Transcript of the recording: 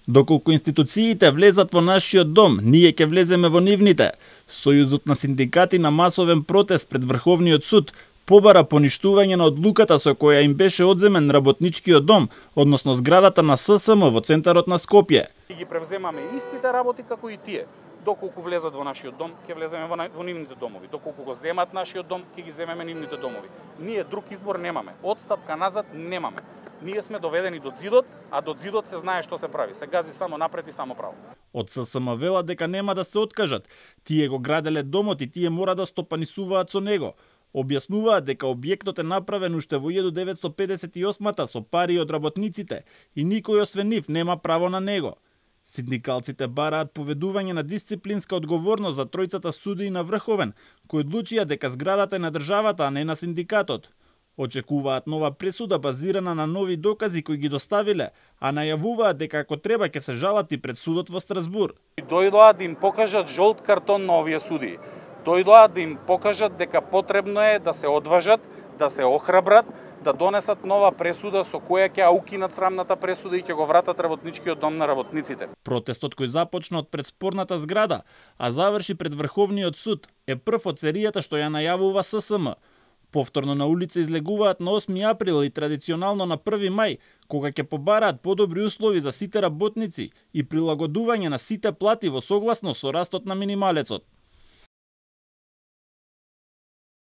Доколку институциите влезат во нашиот дом, ние ќе влеземе во нивните. Сојузот на синдикати на масовен протест пред Врховниот суд побара поништување на одлуката со која им беше одземен работничкиот дом, односно зградата на ССМ во центарот на Скопје. Ги превземаме истите работи како и тие. Доколку влезат во нашиот дом, ќе влеземе во нивните домови. Доколку го земат нашиот дом, ќе ги земеме нивните домови. Ние друг избор немаме. Одстапка назад немаме. Ние сме доведени до зидот, а до зидот се знае што се прави. Се гази само напред и само право. Од ССМ велат дека нема да се откажат. Тие го граделе домот и тие мора да стопанисуваат со него. Објаснуваат дека објектот е направен уште во 1958 со пари од работниците и никој освен нив нема право на него. Синдикалците бараат поведување на дисциплинска одговорност за тројцата судии на Врховен, кои одлучија дека зградата е на државата, а не на синдикатот. Очекуваат нова пресуда базирана на нови докази кои ги доставиле, а најавуваат дека ако треба ќе се жалат и пред судот во Страсбур. Дојдоа да им покажат жолт картон на овие судии. Дојдоа да им покажат дека потребно е да се одважат, да се охрабрат, да донесат нова пресуда со која ќе укинат срамната пресуда и ќе го вратат работничкиот дом на работниците. Протестот кој започна од пред спорната зграда, а заврши пред Врховниот суд, е прв од серијата што ја најавува ССМ. Повторно на улица излегуваат на 8 април и традиционално на 1 мај, кога ќе побараат подобри услови за сите работници и прилагодување на сите плати во согласност со растот на минималецот.